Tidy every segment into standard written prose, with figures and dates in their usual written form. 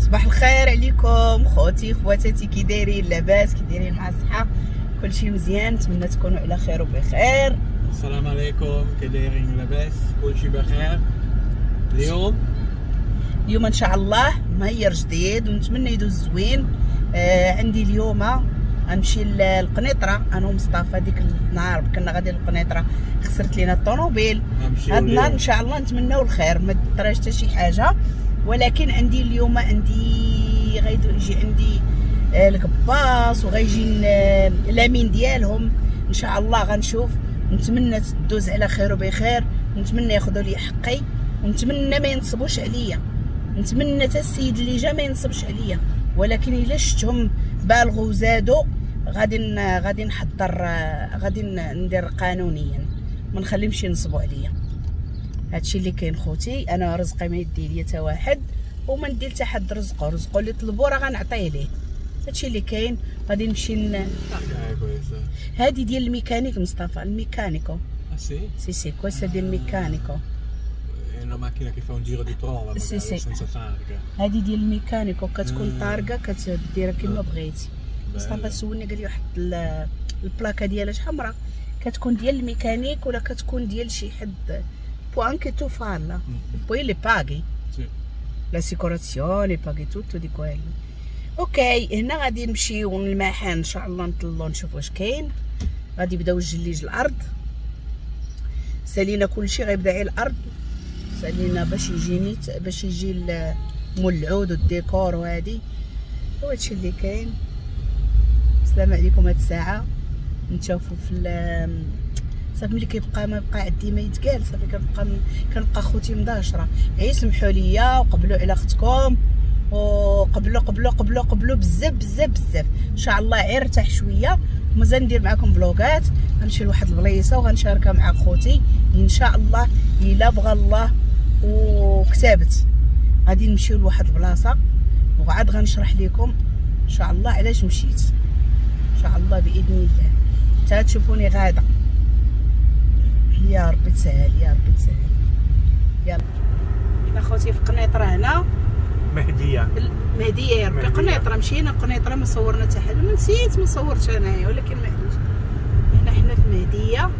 صباح الخير عليكم خوتي خواتاتي، كي دايرين؟ لاباس؟ كي دايرين مع الصحة؟ كلشي مزيان؟ نتمنى تكونوا على خير وبخير. السلام عليكم، كي دايرين؟ لاباس؟ كلشي بخير؟ اليوم ان شاء الله مهير جديد ونتمنى يدوز زوين. عندي اليوم غنمشي للقنيطره انا ومصطفى. ديك النهار كنا غادي للقنيطره خسرت لينا الطوموبيل. هاد النهار ان شاء الله نتمناو الخير، ما طراش حتى شي حاجة. ولكن عندي اليوم عندي غيجي عندي الكباص وغيجي الامين ديالهم ان شاء الله. غنشوف، نتمنى تدوز على خير وبخير، ونتمنى ياخذوا لي حقي، ونتمنى ما ينصبوش عليا، نتمنى حتى السيد اللي جا ما ينصبش عليا. ولكن الا شفتهم بالغوا وزادوا غادي نحضر، غادي ندير قانونيا، ما نخليهمش ينصبوا عليا. هادشي اللي كاين خوتي. انا رزقي ما يدي ليا حتى واحد، وما ندير حتى حد رزقو، رزقو اللي طلبو راه غنعطيه ليه. هادشي اللي كاين. غادي نمشي هادي ديال الميكانيك مصطفى، ال meccanico. Sì? Sì sì, questa ديال ال meccanico. È una macchina che fa un giro di prova magari, sì. Senza targa. هادي ديال ال meccanico كتكون targa كتديرها كما بغيتي. مصطفى سولني قال لي واحد البلاكه ديالها شحال حمراء، كتكون ديال الميكانيك ولا كتكون ديال شي حد؟ Puoi anche tu farla. Poi le paghi. Sì. L'assicurazione, paghi tutto di quello. Okay، هنا غادي نمشيو للمحل ان شاء الله، نطلو نشوف واش كاين. غادي يبداو الجليج الارض، سالينا كلشي غيبدا على الارض، سالينا باش يجي نيت، باش يجي مول العود والديكور وهادي. وهادشي اللي كاين. السلام عليكم. هاد الساعة نتشوفوا في صافي ملي كيبقى ما بقى عندي ما يتقال، صافي كنبقى خوتي مداشره. غير سمحوا ليا وقبلوا على اختكم، وقبلوا قبلوا قبلوا قبلوا بزاف بزاف بزاف. ان شاء الله غير ارتاح شوية ومازال ندير معكم فلوغات. غنمشي لواحد البليصه وغنشاركها مع خوتي ان شاء الله الا بغى الله وكتابت. غادي نمشيو لواحد البلاصة وعاد غنشرح لكم ان شاء الله علاش مشيت ان شاء الله باذن الله. حتى تشوفوني غاده. يا ربي تسهل، يا ربي تسهل. يلا حنا خوتي في قنيطره هنا، مهديه مهديه يا ربي. قنيطره مشينا قنيطره ما صورنا حتى حاجة، ما نسيت ما صورتش انايا، ولكن معليش. حنا في مهديه.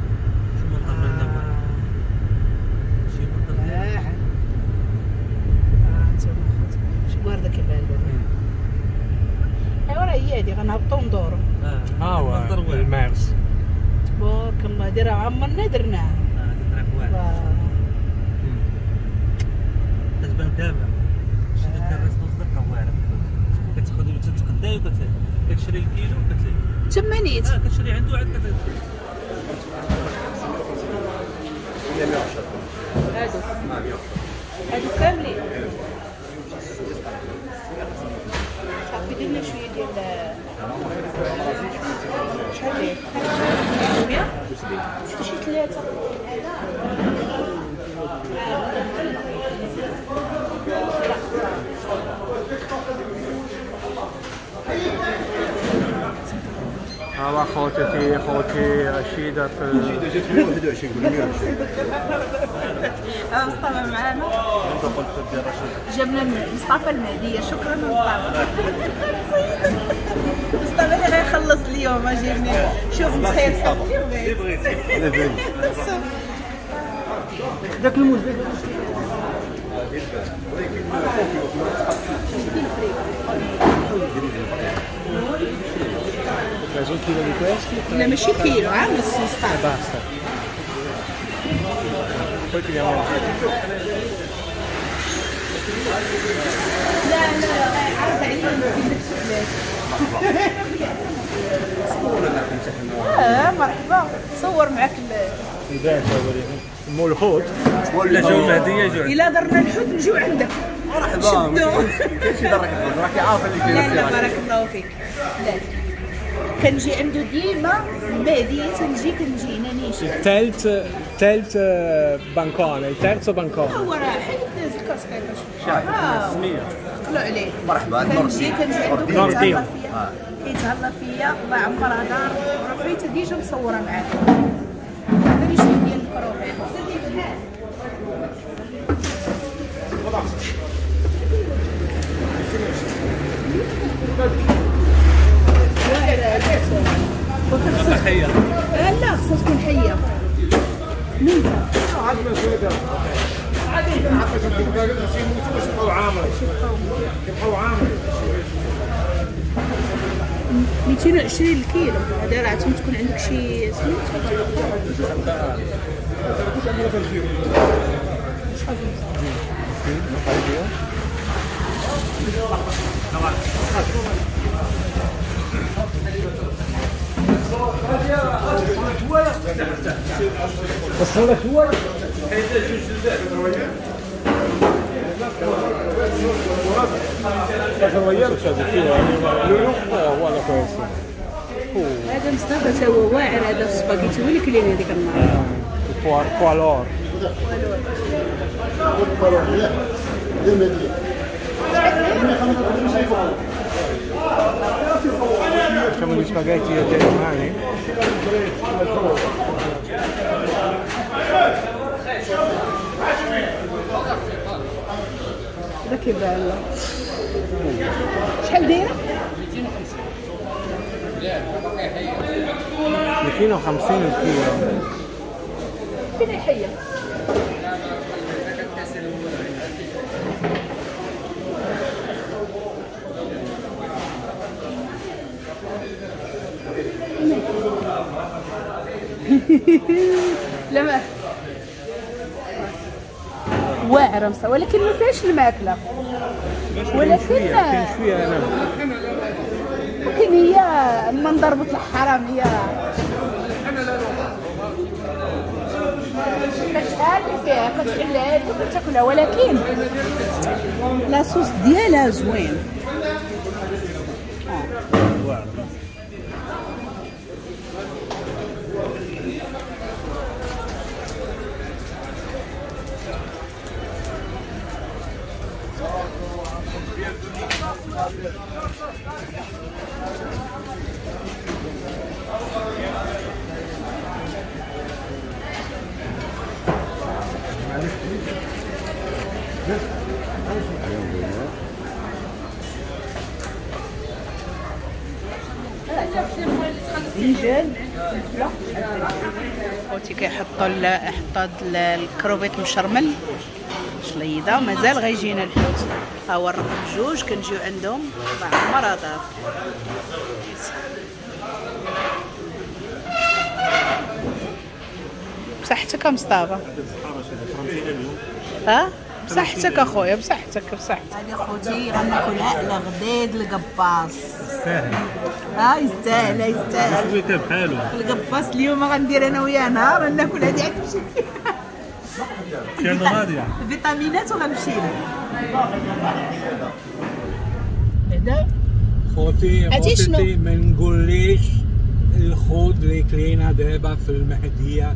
شو كيبان لنا؟ ايوا راه هي هادي، غنهبطو ندورو. ها هو المارس تبارك الله، هادي راه عمرنا درناها. هادي طريق واعرة كتبان كاملة. شي داك ال resto الزرقاء واعرة، كتاخذ تتقداي وكتشري الكيلو تما نيت. كتشري عنده عاد هادو هادو كاملين. صافي درنا شوية ديال شحال داير؟ 100 شي 3. ها خوتي خوتي رشيدة في 21 120. مصطفى معانا، جبنا مصطفى المهدية. شكرا مصطفى. مصطفى اللي غيخلص اليوم جيبني. شوف تخيل اللي بغيتي. داك الموز لا ماشي كيلو، عام نص مصطفى. لا لا عرض عليا مرحبا. صور معاك مول الحوت ولا جاو المهدية يجيو. الا درنا الحوت نجيو عندك. مرحبا، كاين شي درك الحوت راكي عارفه اللي كاين. لا لا بارك الله فيك. لا كنجي عنده ديما المهدية، تنجي كنجي هنا نيشان. الثالث bancone، ال terzo bancone. هو راه حيد الكاسكيطه السمية طلعوا عليه. مرحبا. كنجي عنده كيتهلا فيا، كيتهلا فيا الله يعمرها دار. راه فايته déjà مصوره معاه. عطيني شوية ديال الكروفيت. حيه. لا خصها تكون حيه. ميته. يبقاو عامرين. 220 الكيلو. هذا راه عتم تكون عندك شي سميتو. هذا مصطفى تا هو واعر، هذا السباكيتي هو اللي كلينا هذيك النهار. كوالور Facciamo gli spaghetti delle mani. Guarda che bello. شحال دايرة؟ 250 الكيلو. فين الحية؟ لا ما واعرة مصا، ولكن ما فيهاش الماكلة، ولكن شوية انا ولكن هي المنظر بطلع حرام. هي كتحل فيها، كتحلها وكتاكلها، ولكن la sauce ديالها زوين. خوتي كيحطوا حطوا الكروفيت مشرمل شليضه، مازال غيجينا الحوت. ها هو الرقم 2 كنجيو عندهم مع مرضات. بصحتك مصطفى. ها بصحتك اخويا، بصحتك بصحتك. هذه خوتي غناكلها على غديد القباص. يستاهل. ها يستاهل يستاهل. شوية بحالو القباص اليوم غندير انا وياه نهار ناكل هذه عاد تمشي. كان غادية فيتامينات وغنمشي له. بعدا خوتي خوتي ما نقوليش الخوت اللي كلينا دابا في المهدية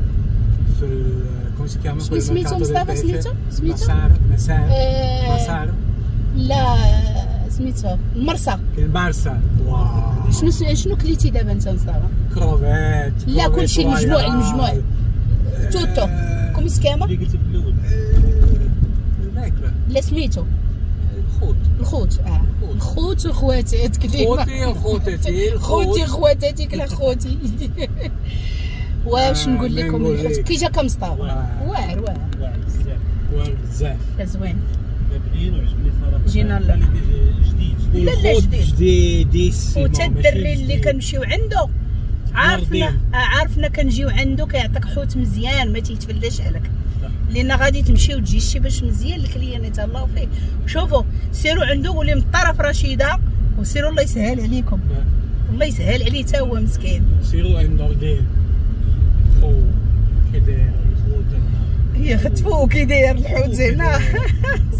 في come si chiama؟ شنو سميتو مصطفى؟ سميتو سميتو مسار مسار مسار لا سميتو المرسى. المرسى. واو شنو كليتي دابا انت مصطفى؟ كروفيت. لا كلشي المجموع المجموع tutto come si chiama اللي قلتي في الاول الماكلة. لا سميتو الخوت. الخوت الخوت وخواتات كلينا. خوتي وخواتاتي خوتي خواتاتي كلا خوتي. واش نقول لكم الحوت كي جا كمصطفى واعر واعر واعر بزاف واعر بزاف زوين بنين وعجبني صراحة. جينا جديد جديد. لا لا جديد جديد. وتا الدري اللي كنمشيو عنده عارفنا عارفنا كنجيو عنده كيعطيك حوت مزيان ما تيتفلاش عليك، لان غادي تمشي وتجي شي باش مزيان ال client يتهلاو فيه. شوفوا سيروا عنده قولي من طرف رشيده وسيروا الله يسهل عليكم. الله يسهل عليه حتى هو مسكين. سيروا عند نوردين. او كي داير الحوت هي ختفو كي داير الحوت هنا.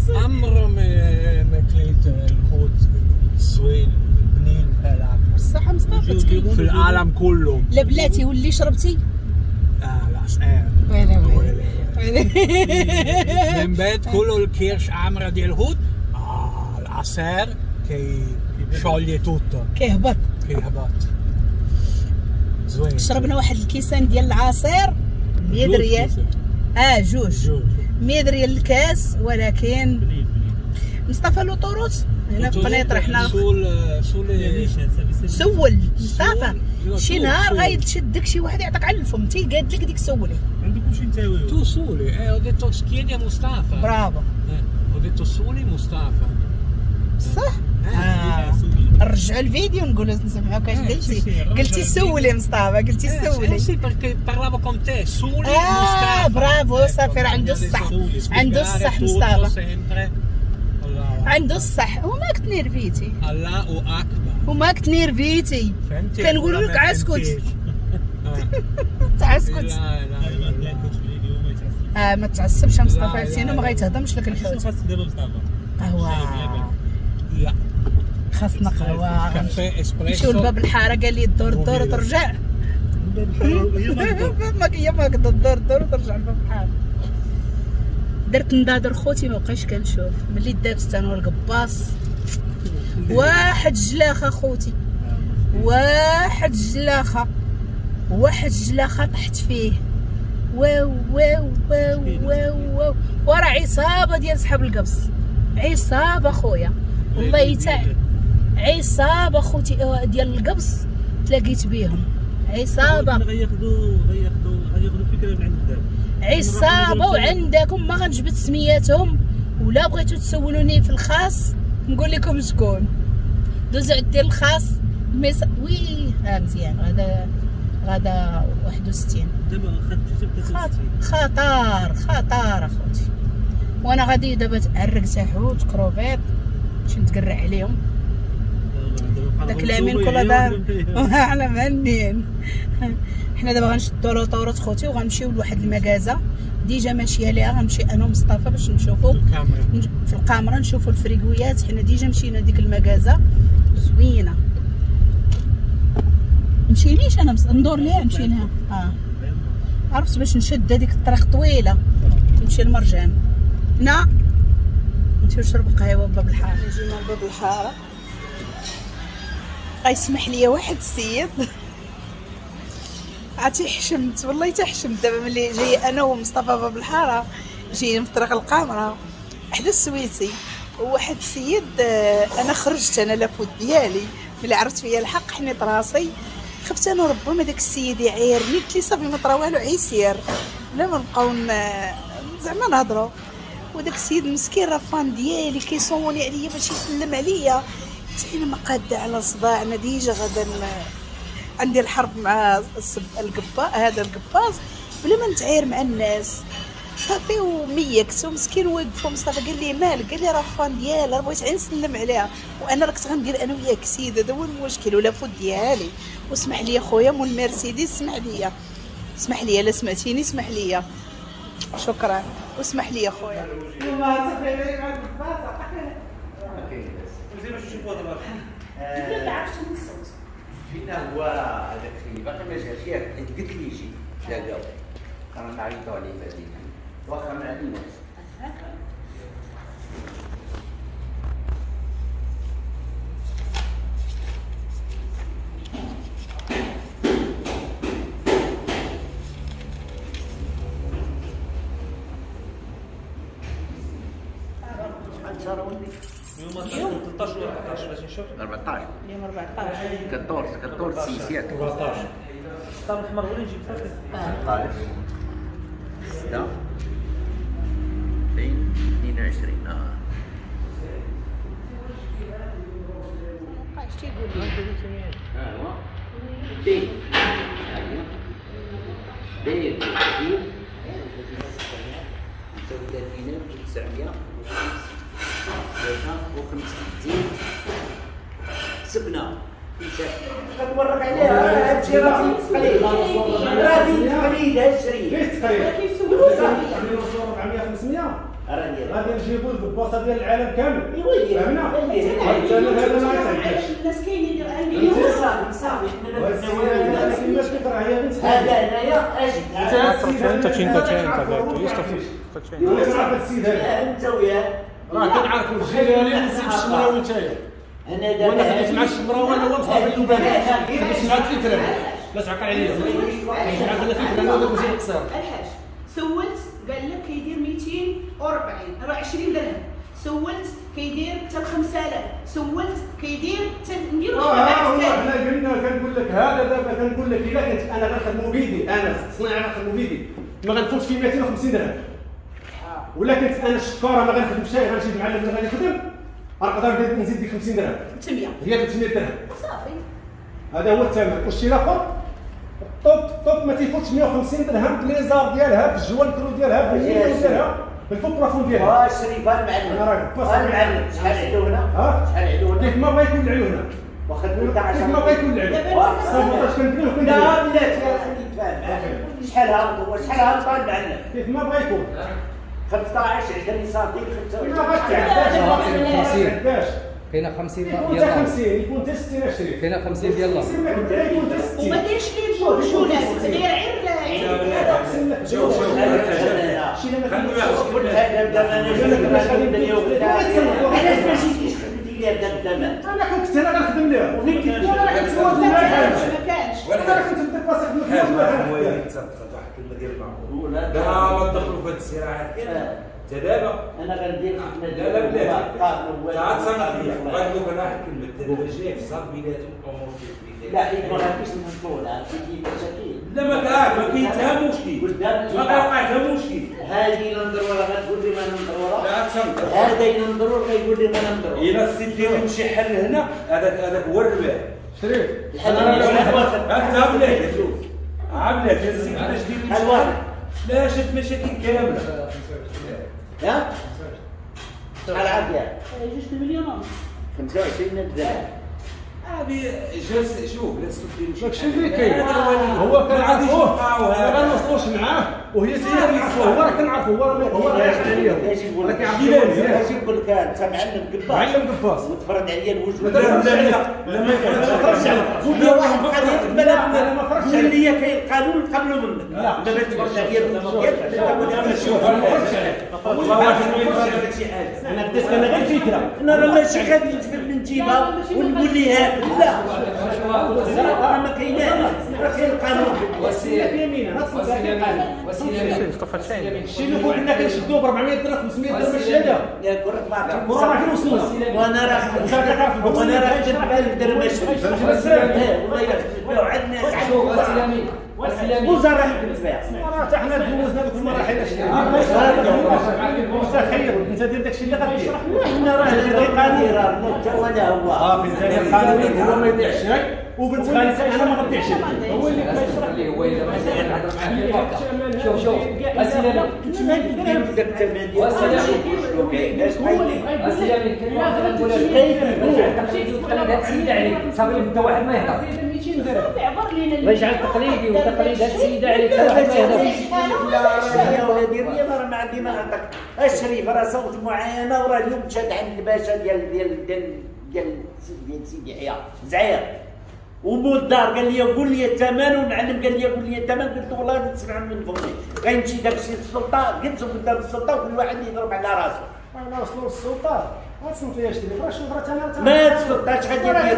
عمر ما كليت الحوت الزوين بنين بحال هكا. بصح مصطفى في العالم كله. لا بلاتي واللي شربتي؟ العصير. ويلي ويلي من بعد كله الكرش عامرة ديال الحوت. العصير كي scioglie tutto. كيهبط كيهبط زوين. شربنا واحد الكيسان ديال العصير 100 ريال. جوج 100 ريال الكاس. ولكن مصطفى l'autoroute هنا في قنيطره حنا سول مصطفى شي نهار غيتشدك شي واحد يعطيك على الفم تيقاد لك ديك سولي. عندك كلشي انت tu soli ho detto chiedi a Mustafa. bravo. Ho detto soli Mustafa. صح؟ نرجعوا الفيديو نقولوا نسمعوك اش قلتي. قلتي سولي مصطفى، قلتي سولي. sì perché parlavo con te soli Mustafa. برافو صافي راه عنده الصح، عنده الصح مصطفى، عنده الصح. وما كنت نيرفيتي، الله اكبر، وما كنت نيرفيتي. كنقولوا لك عاسكت تعسكت. لا لا لا ما تعصبش مصطفى، sinon ما غيتهضمش لك الحوت. شنو خاصك دابا مصطفى؟ قهوة. لا خاصنا قهوة، café espresso. نمشيو لباب الحارة قال لي الدور الدور وترجع. هي ما قدر الدور الدور وترجع لباب الحارة. درت نضادر خوتي ما بقيتش كنشوف ملي دابست انا والقباص. واحد جلاخه خوتي، واحد جلاخه، واحد جلاخه طحت فيه. واو واو واو واو واو، ورا عصابة ديال صحاب القبص، عصابة خويا والله تاع عصابة خوتي ديال القبص تلاقيت بيهم عصابة. غياخذوا فكرة من عندك دابا عصابة، وعندكم ما غنجبد سمياتهم، ولا بغيتو تسولوني في الخاص نقول لكم شكون. دوزو عندي الخاص oui مزيان. غدا غدا 61 دابا خطر خطر اخوتي. وانا غادي دابا تعرق حوت كروفيت باش نتقرع عليهم. داك الامين كل دار على مهنين. حنا دابا غنشدو l'autoroute خوتي وغنمشيو لواحد المكازه déjà ماشية ليها، غنمشي انا ومصطفى باش نشوفو في القامره، نشوفو الفريكويات. حنا déjà مشينا ديك المكازه زوينة. مشينيش انا ندور ليها، نمشي لها. عرفت باش نشد هذيك الطريق طويلة نمشي لمرجان. هنا نمشيو نشرب قهوة باب الحارة. جينا لباب الحارة. غيسمح لي واحد السيد عرفتي حشمت والله تحشمت دابا ملي جاي انا ومصطفى باب الحارة، جايين في طريق القامره حدا السويسي، وواحد السيد انا خرجت انا la faute ديالي ملي عرفت فيا الحق حنيت راسي، خفت انا ربما داك السيد يعايرني. قلت لي صافي ما طرا والو عيسير بلا ما نبقاو زعما نهضروا. وداك السيد مسكين راه fan ديالي كيصوني عليا باش يسلم عليا. قلت انا ما قاده على صداع، انا déjà غادا عندي الحرب مع القبا هذا القباص بلا ما نتعاير مع الناس. صافي وميكت ومسكين وقف مصطفى قال لي مالك؟ قال لي راه fan ديالها راه بغيت غير نسلم عليها، وانا راه كنت غندير انا وياك سيد، هذا هو المشكل و la faute ديالي. واسمح لي خويا مول المرسيدس، اسمح لي اسمح لي لا سمعتيني اسمح لي، شكرا واسمح لي خويا. فينا هو هذاك اللي باقي ما جاش ياك، حيت قلت لي يجي تلاقاو رانا نعيطوا عليه بعدين واخا ما عليناش. اليوم 13 ولا 14 باش نشوف 14 اليوم 14 14 6 ياك 14 السطام الحمر هو اللي نجيب صافي 16 6 2 22. اش تيقول لي؟ ها هو بي بي 359 53 سبنا كتورك عليها هادشي راه تقليد، راه تقليد هادشي ليش تقليد؟ 400 500 غادي نجيبو الباصه ديال العالم كامل. فهمنا؟ هذا ما يتعداش. الناس كاينين اللي عندي صافي صافي حنا ما كايناش كثر هي بنت هذا هنايا اجي 150 100 السيد هذا انت وياه راه كنعرفوا الجيراني نسيب الشمراوي نتايا. انا دابا وانا خديت مع الشمراوي انا هو مصطفى اللباني، خديت معاك في الفرن لا تعقل عليا، خديت معاك انا في الفرن وداك وجهي القصير. الحاج سولت قال لك كيدير 240 راه 20 درهم. سولت كيدير حتى 5000، سولت كيدير حتى نديرو. حنا قلنا كنقول لك هذا دابا، كنقول لك الا كنت انا غنخدمو بيدي، انا صناعي غنخدمو بيدي ما غنفوتش في 250 درهم. ولا كنت انا الشكاره ما غنخدمش، غنجيب معلم اللي غادي يخدم، غنقدر نزيد ديك 50 درهم 300، هي 300 درهم صافي. هذا هو الثمن. والشيء الاخر ال top top ما تيفوتش 150 درهم ب les arbres ديالها، بال joint clou ديالها، بال niveau ديالها، بال faux plafond ديالها. واش شريفه المعلم؟ المعلم شحال عندو هنا؟ شحال عندو هنا؟ كيف ما بغا يكون العلو هنا، واخا تقول كيف ما بغا يكون العلو sabotage كنبنيو كنديرو. لا بلاتي خليني نتفاهم معاك. شحال هابط هو؟ شحال هابط المعلم؟ كيف ما بغا يكون 15 20 سنتيم 25. ما غاتعداش، كاينه 50 ديال الله، 50 يكون حتى 60 20، كاينه 50 ديال الله، يكون حتى 60. وما كاينش اللي الجولات غير عير. شوف شوف علاش ما جيتيش خدمتي ليها بداك الثمن؟ انا كنت انا غنخدم ليها، وفين كنت؟ انا كنت ما كانش، انا كنت نديباسي خدمة في واحد الكلمة ديال المعقول. لا ما تدخلوا في هاد الصراعات حتى دابا. انا غندير خدمة. لا لا بلاتي تعال تصنع ليا، غنقول لك انا واحد الكلمة. انت دابا جاي في صاب بيناتهم الامور ديال لا حيت ما غاديش نوصلوا لها، كاين مشاكل. لا ما كاين حتى مشكل، ما كيوقع حتى مشكل. هذه نضرورة غتقول لي ما نضرورة، لا تصنت. هذا ينضرور غيقول لي ما نضرور. الا السيد ديالهم شي حل هنا، هذاك هو الربح. شريف الحل انت بلاتي عامله السيد كيفاش دير الواحد لا شد مشاكل كاملة. ها شحال عاد 2 مليون ونص، 25 درهم. هذه جالس شوف لا السوق داكشي اللي كاين هو كنعرفوه ما غنوصلوش معاه، وهي سيده كنعرفوه، هو راه كنعرفوه، هو راه يعرف عليا، راه كيعرف مزيان. اجي نقول لك انت معلم قباص، معلم قباص وتفرض عليا الوجود. لا لا لا ما يفرضش عليك. قول لي واحد القضية قبل انا ما فرضتش قول لي كاين قانون قبل منك. لا ما تفرضش عليا الوجود. شوف ما فرضتش عليك والله واحد ما يفرض عليك شي حاجة. انا بديت انا غير فكرة، انا راه ماشي غادي ندفن من جيبها ونقول لها لا، راه ما كايناش، راه كاين القانون. وسيلة يمينه الشيء اللي كنا كنشدوه ب 400 درهم 500 درهم الشهادة يا كرة ما وراه فين وصلنا. وانا راه وانا راه خدمت ب 1000 درهم والله الا خدمت بها وعندنا وزراء خدمت بها. راه حتى حنا دوزنا دوك المراحل. متخيل انت دير داكشي اللي غدير. حنا راه القانون راه انت ولا هو صافي انت القانون هو ما يضيعش شيء، وبنت خالتي انا ما غنضيعش. هو اللي كيشرح لي، هو الا ما نهضر معاه في. شوف شوف اسيلامي اسيلامي كلمة واحدة نقولها لك، تقليد هاد السيد عليك صافي حتى واحد ما يهضر. صافي عبر لينا الله يجعل تقليدي وتقليد هاد السيدة عليك حتى واحد ما يهضر. لا يا ولادي الرياض راه ما عندي ما نعطيك. الشريف راه صوت معاينة، وراه اليوم مشات عند الباشا ديال ديال ديال ديال ديال سيدي يحيى زعير ومول الدار، قال لي قول لي الثمن، والمعلم قال لي قول لي الثمن، قلت له والله غادي تسمع من فمي، غيمشي داكشي للسلطة، قلت قدام السلطة وكل واحد يضرب على راسو. انا وصلوا للسلطة غتصنت ليا شريف، راه شوف راه انا ما تسلطاش غادي راه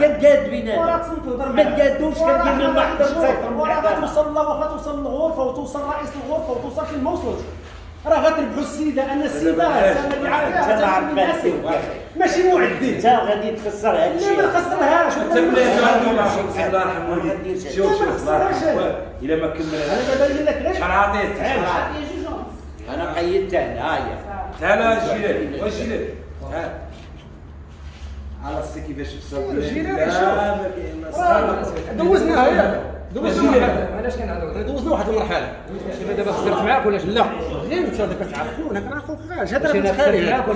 كتقاد بيناتنا، راه تصنت تهضر ما تقادوش كدير لهم واحد التسيطر، وراه غتوصل لا واخا توصل للغرفة وتوصل رئيس الغرفة وتوصل فين ما وصلت، راه غتربحوا السيدة. ان السيدة راه ماشي معدي، انت غادي تخسر هادشي. لا ما نخسرهاش، انت بلاتي الله يرحم والديك. شوف شوف الله يرحم الا ما كمل انا دابا نقول لك شحال عطيت؟ انا قيدت هنا، هاهي تعال الجيلاني، واش الجيلاني؟ تعال على السي كيفاش وصلت الجيلاني. شوف دوزناها ياك، دوزنا. علاش كنهضروا؟ دوزنا واحد المرحلة. دابا خسرت معاك ولا لا؟ غير انت هذا كتعرفو، انا كنعرفو غاش هذا راه متخيل معاك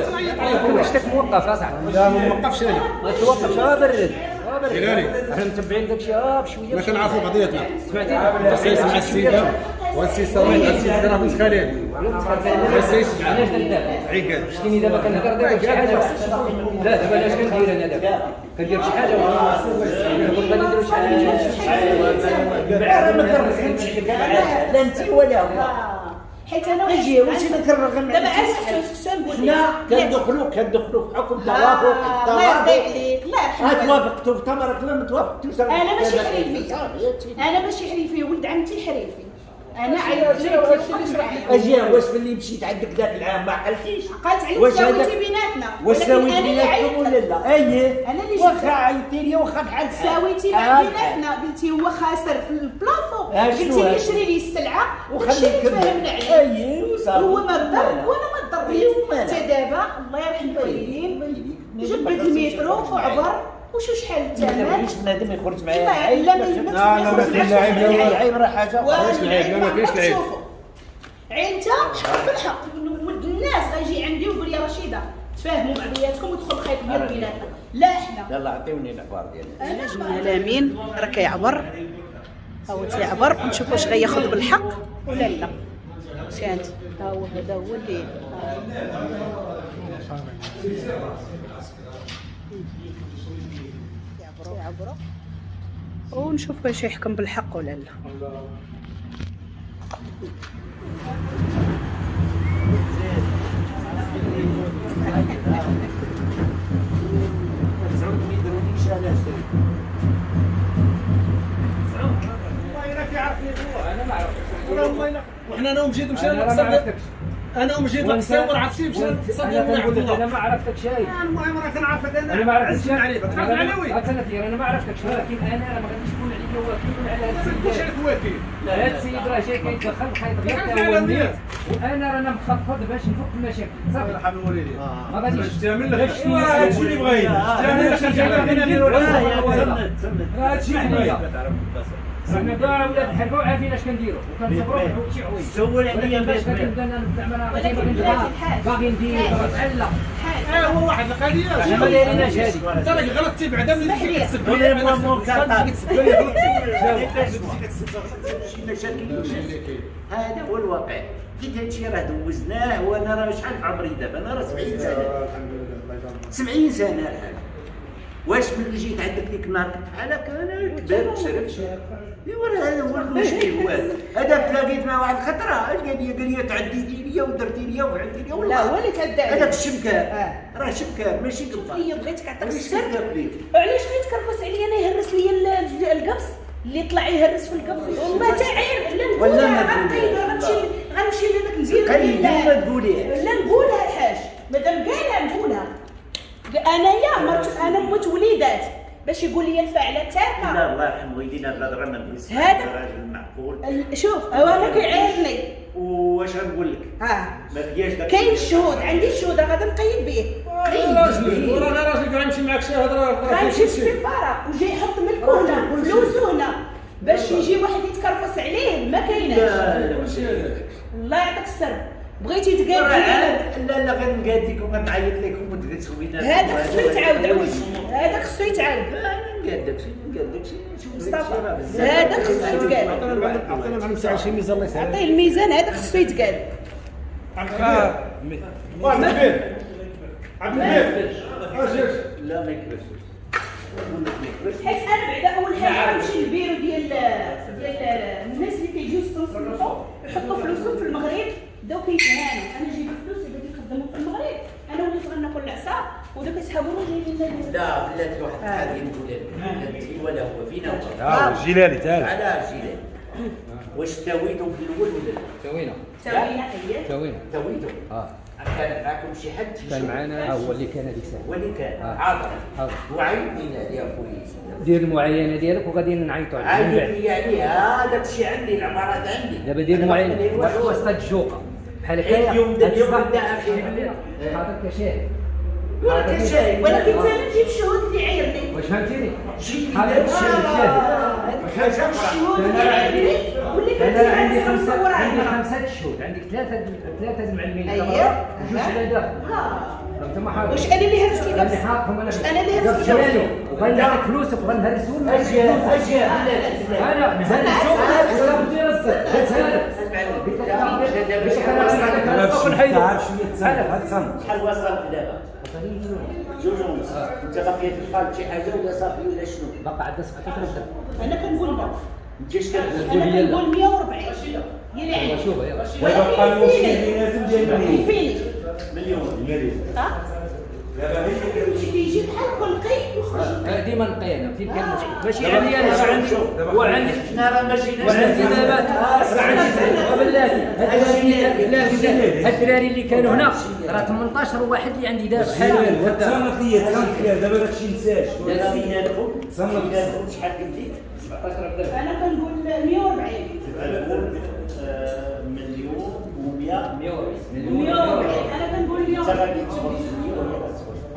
ولا شتك موقف اصاحبي؟ لا ما موقفش انا، ما توقفش. برد جيلاني حنا متبعين داكشي بشوية، ما كنعرفوا بعضياتنا. سمعتي؟ سيس مع السيدة والسي صوميد، السيدة راه بنت خالي. علاش دابا؟ عقاد شتيني دابا كنهضر دابا شي حاجة؟ لا دابا علاش كندير انا دابا؟ كندير شي حاجة ولا غادي ندير شي حاجة؟ راه ما كنرغمش عليك لا انت ولا هو، حيت انا اجي واش انا كنرغم دابا علاش نقول حنا كندخلوا في حكم توافق. الله يرضي عليك، الله يرحمك. توافقتوا في تمرك لا ما توافقتوش. انا ماشي حريفي، انا ماشي حريفي، ولد عمتي حريفي. انا عيطت لك. اجي واش ملي مشيت عندك ذاك العام ما عقلتيش؟ عقلت عليك، ساويتي بيناتنا. واش ساويت بيناتكم ولا لا؟ اييه انا اللي واخا عيطتي لي واخا بحال ساويتي بيناتنا، قلتي هو خاسر في ال plafond، قلتي لي شري لي السلعة وخلي تفاهمنا عليه. اييه وصافي، هو ما ضر وانا ما ضريت. حتى دابا الله يرحم الوالدين جبد المترو وعبر وشو شحال الثمن. ما بغيتش بنادم يخرج معايا. لا لا لا ما كاينش العيب، لا العيب راه حاجة. ما كاينش العيب، لا ما كاينش العيب. عين انت حق بالحق، ولد الناس غيجي عندي ويقول لي رشيده تفاهموا بعضياتكم ودخل خيط ديال بيناتنا. لا حنا يلا عطيوني العبار ديالي. انا الامين راه كيعبر، هو تيعبر ونشوف واش غياخذ بالحق ولا لا. شانت ها هو، هذا هو اللي يعبروا ونشوف واش يحكم بالحق ولا لا. وحنا انا ومجيد مشينا للقصر، انا ومجيد للقصر وعرفتي مشينا للقصر ديال عبد الله. انا ما عرفتكش شيء. المهم راه كنعرفك انا. انا ما عرفتكش. تعرف العلوي؟ انا ما عرفتكش، ولكن انا ما غاديش نكون عليا وكيل على هذا السيد. ما تكونش عليك وكيل. هذا السيد راه جاي كيتدخل بخيط غير هو النيت، وانا رانا مخفض باش نفك المشاكل. صافي يرحم الوالدين. ما غاديش تعمل لك هادشي اللي بغينا، تعمل لك هادشي اللي بغينا. حنا كاع ولاد الحرفة وعارفين اش كنديروا وكنصبروا شي حوايج. سول عليا باش كنبدا انا باغي ندير نتعلق. هو واحد القضية حنا ما دايريناش هادي. انت راك غلطتي بعدا ملي كتسب لي غلطتي شي مشاكل. هذا هو الواقع. حيت هادشي راه دوزناه، وانا راه شحال في عمري دابا؟ انا راه 70 سنة. الحمد لله الله يبارك. 70 سنة الحاج. واش ملي جيت عندك ديك النهار كنت بحال هكا؟ انا كبرت شربت. ايوا راه هذا هو المشكل. هو هذا تلاقيت مع واحد الخطرة قال لي تعديتي ليا ودرتي ليا وفعلتي ليا. لا هو اللي تعدى عليك هذاك الشمكار. راه شمكار ماشي قبطان. ليا بغيتك عطاك السر. علاش غيتكرفس عليا انا؟ يهرس ليا القبص اللي طلع يهرس في القبص. والله تا عيب. لا نقولها غنقيد، غنمشي لهذاك ندير. لا تقوليهاش. لا نقولها الحاج مادام قالها نقولها. انايا مرت انا موت وليدات باش يقول لي الفاعلة تاعك. لا الله يرحم والدينا بلاد راه ما نقولش هذا راجل معقول. شوف هو انا كيعايرني. واش غنقول لك؟ ما فياش داك. كاين الشهود، عندي الشهود غادي نقيد به. راجل وراه غير راجل غنمشي معاك شي هضره. غنمشي للسفاره وجاي يحط ملكو هنا فلوسو هنا باش يجي واحد يتكرفس عليه. ما كايناش. لا ماشي هذاك. الله يعطيك السر. بغيتي تقاد لا لا غنقاد لكم غنعيط لكم وتجلسوا بينا. هذاك خصو يتعاود عوج، هذاك خصو يتعاود. نقاد داكشي نقاد داكشي. مصطفى هذاك خصو يتقاد. عطينا معلم ساعة شي ميزان الله يسهل. عطية الميزان، هذاك خصو يتقاد. عبد الكبير عبد الكبير اجي. لا ما يكبرش حيت انا بعدا اول حاجة غنمشي للبيرو ديال الناس اللي كيجيو يستنصتوا يحطوا فلوسهم في المغرب. بداو كيتهانوا. انا جايب فلوس بديت نخدمهم في المغرب، انا وليت غناكل العصا وداك يسحبوني جايبين لنا. لا بلاتي واحد القضية نقولها لك، لا انت ولا هو فينا هو. الجيلالي تعال على الجيلالي. واش تاويتو في الاول ولا لا؟ تاوينا تاوينا. اييه تاوينا تاويتو. كان معاكم شي حد؟ كان معنا هو اللي كان هذيك الساعة، هو اللي كان حاضر وعيط لينا يا خويا. دير المعاينة ديالك وغادي نعيطوا عليك. عيط لي عليها، هذاك الشيء عندي، العبارات عندي. دابا دير المعاينة وسط الجوقه بحال هكايا. اليوم بدا اخي حاضر كشاهد. ولكن ولكن انا نجيب الشهود اللي عايرني. واش فهمتيني؟ حاضر الشاهد. الشهود اللي عايرني واللي كنت انا عندي خمسة، عندي خمسة شهود، عندك ثلاثة المعلمين. اييه جوج على داخل. انت حاضر. واش انا اللي هرست القبص؟ واش انا اللي هرست القبص؟ وغنعطيك فلوسك وغنهرسو. اجي اجي انا نهرسو ولا بدي رزق. شحال وصلت دابا؟ 2.5. انت باقي تلقى شي حاجة ولا صافي ولا شنو؟ باقي عندنا 17 درهم. انا كنقول لا. انت اش كتقول؟ انا كنقول 140 هي اللي عندي. شوف يلا. ويبقى المشكل بيناتهم ديال مليون. مليون. ها؟ دابا كيجي بحال كل قي ويخرج. ديما نقي انا فين كان المشكل ماشي عندي انا راه عندي وعندي حنا راه ما جيناش وعندي دابا راه عندي وبلاتي هاد الدراري اللي كانوا هنا راه 18 واحد اللي عندي دابا حاليا. تصنت ليا دابا داكشي نساش تصنت شحال قلتي 17 درهم. انا كنقول 140. انا كنقول مليون و100 140. انا كنقول 140.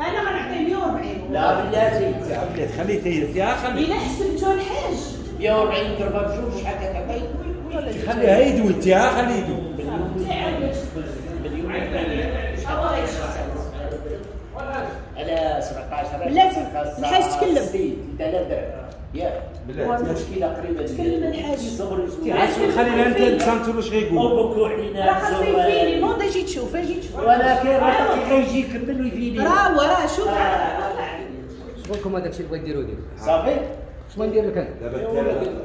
انا غنعطي 140. لا بلاتي بلاتي خليه تير خليه الا حسبتو الحاج 140 ضربه بجوج شحال كتعطي؟ خليها يدوي انت خليه يدوي. مليون على 17 بلاتي الحاج تكلم 3000 درهم ياك المشكلة قريبه تكلم الحاج خلينا انت تسنتو واش غيقول وبكوا علينا راه خاصو يفيني نوض اجي تشوف اجي تشوف ولكن راه كيجي يكمل ويفيني راه هو راه شوف شغلكم هذاك الشيء اللي بغيت ديرو ديرو صافي. شنو ندير لك انا دابا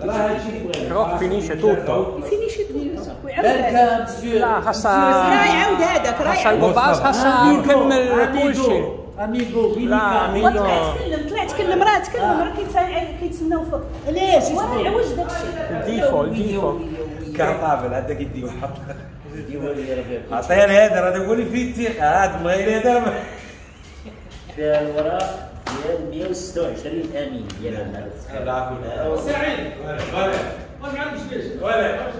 راه هادشي اللي بغينا روح finisce tutto finisce tutto بالك مسيو لا خاصها راه يعاود هذاك راه خاصها الباص خاصها يكمل كلشي amigo لا amigo طلع تكلم طلع تكلم راه تكلم راه كيتسناو فيك علاش وراه يعوج داكشي ال défaut ال défaut cartable هذاك يدي وحط عطية لهذا راه تقول لي فيه الثقة هذا بغير هذا فيها الوراق ديال 126 امين ديال لا سعيد ولا واش ما عندكش ليش ولا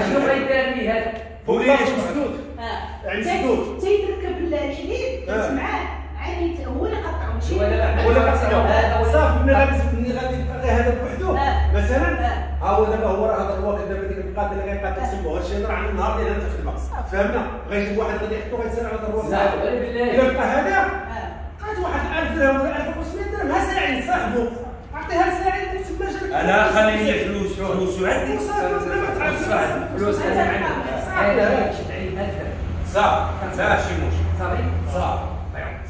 شنو غيدار لي هذا؟ مسدود يعني مسدود تيركب الحليب معاه عادي هو اللي قطعو ماشي هو اللي قطعو صافي. ملي غادي يبقى هذا بوحدو مثلا ها هو دابا هو راه هذا الواقع دابا ديك القاده اللي غيبقى تسمو هادشي راه عندنا النهار ديال الخدمة فهمنا. غيجيب واحد غادي يحطو غيتسال على هذا الواقع الا بقى هذا قعد واحد 1000 درهم ولا 1500 درهم ها ساعين صاحبو عطيها لساعين تما جا. انا خليني فلوس عندي فلوس انا عندي شد علي 1000 درهم صافي ماشي مشكل صافي صافي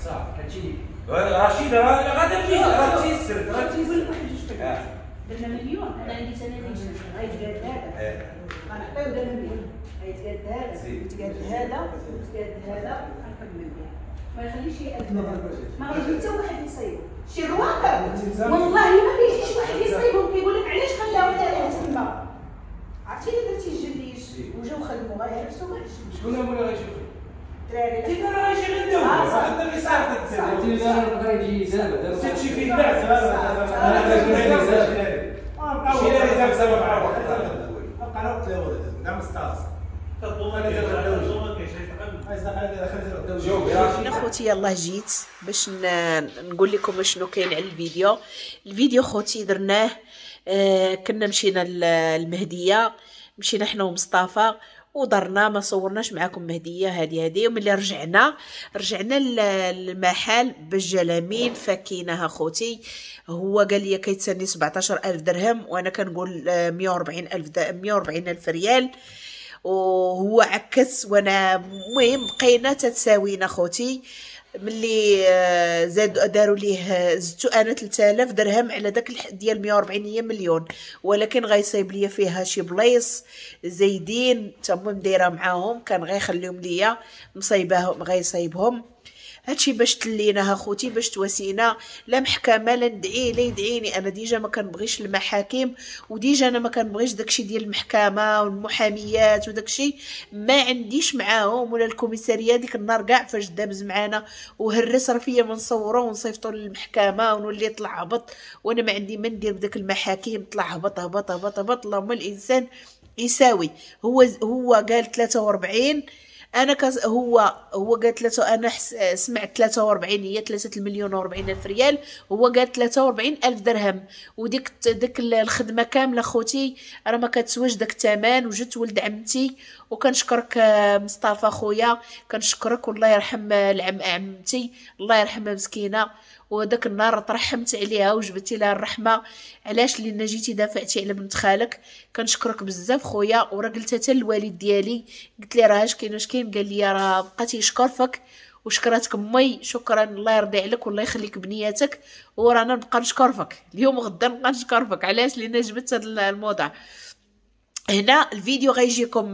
صافي هادشي ليك رشيد راه غادي تجي راه تيسر راه تيسر. درنا مليون انا عندي سنة غيتقاد هذا غنعطيو دابا مليون غيتقاد هذا ويتقاد هذا ويتقاد هذا غنكمل به ما يخليش شي 1000 درهم ما غيجي حتى واحد يصيبو شي رواقه والله ما كيجيش واحد يصيبو كيقول لك علاش خلاو هذا تما. عرفتي الا درتي الجليش وجاو خدموا غيهرسوا كاع الجليش. شكون هو اللي غيجي الدراري تينا راه يجي غير الدولة عندنا اللي صاحبك تينا راه يجي دابا تمشي فيه بعد انا خوتي يلاه جيت باش نقول لكم شنو كاين على الفيديو. الفيديو خوتي درناه كنا مشينا للمهديه، مشينا حنا ومصطفى ودرنا ما صورناش معاكم مهديه هادي. وملي رجعنا للمحل بالجلامين فكيناها خوتي. هو قال لي كيتسني 17000 درهم وانا كنقول 140000 ريال، وهو عكس. وانا المهم بقينا تتساوينا خوتي. ملي زاد داروا ليه زدتو انا 3000 درهم على داك ديال 140 هي مليون، ولكن غيصايب ليا فيها شي بلايص زايدين تما دايرة معاهم، كان غيخليهم ليا مصايباهم غيصايبهم. هادشي باش تليناها خوتي، باش تواسينا. لا محكمة لا ندعي لا يدعيني، انا déjà ما كنبغيش المحاكم، و déjà انا ما كنبغيش داكشي ديال المحكمة والمحاميات وداكشي، ما عنديش معاهم ولا الكوميساريه. ديك النهار كاع فاش دابز معانا وهرس راه فيا ما نصورو ونصيفطو للمحكمة ونولي طلع هبط، وانا ما عندي ما ندير بداك المحاكم، طلع هبط هبط هبط هبط. اللهم الانسان يساوي. هو قال 43، انا هو قال 3، انا سمعت 43 هي 3,040,000 ريال، هو قال 43,000 درهم. وديك ديك الخدمة كاملة خوتي راه ما كتسواش داك الثمن. وجدت ولد عمتي وكنشكرك مصطفى خويا، كنشكرك والله يرحم العم عمتي الله يرحمها مسكينه. وداك النهار ترحمت عليها وجبتي لها الرحمة. علاش؟ لان جيتي دافعتي على بنت خالك. كنشكرك بزاف خويا. وراه قلت حتى الوالد ديالي، قلت لي راه اش كاين اش كاين، قال لي راه بقى تيشكر فيك وشكراتك امي، شكرا، الله يرضي عليك والله يخليك بنياتك. ورانا نبقى نشكر فيك اليوم وغدا، نبقى نشكر فيك. علاش؟ لان جبت هذا الموضوع هنا. الفيديو غيجيكم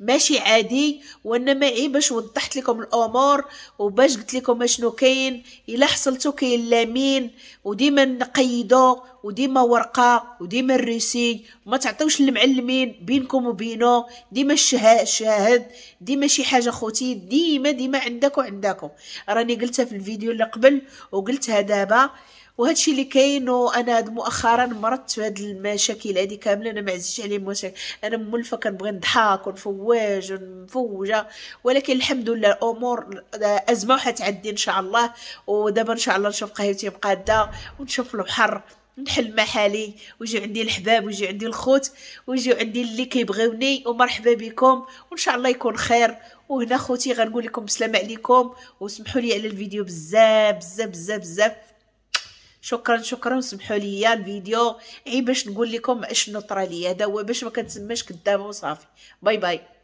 ماشي عادي، وانما عي باش وضحت لكم الامور وباش قلت لكم اشنو كاين. الا حصلتو كاين لامين، وديما نقيدو، وديما ورقة، وديما ال reçu، ما تعطيوش للمعلمين بينكم وبينو، ديما الشاهد، ديما شي حاجة خوتي، ديما ديما عندك وعندكم. راني قلتها في الفيديو اللي قبل وقلتها دابا، وهادشي اللي كاين. وانا مؤخرا مرضت في هاد المشاكل هادي كاملة، انا ما عزيزش عليا المشاكل، انا مولفه كنبغي نضحك ونفواج ونفوجه، ولكن الحمد لله الامور ازمة وحتعدي ان شاء الله. ودابا ان شاء الله نشوف قهوتي مقاده ونشوف البحر، نحل محالي، ويجيو عندي الحباب ويجيو عندي الخوت ويجيو عندي اللي كيبغيوني، ومرحبا بكم وان شاء الله يكون خير. وهنا خوتي غنقول لكم السلام عليكم، وسمحوا لي على الفيديو بزاف بزاف بزاف بزاف. شكرا شكرا، وسمحوا لي الفيديو عي باش نقول لكم اشنو طرا لي، هذا هو باش ما كنتسماش كدابه وصافي. bye bye.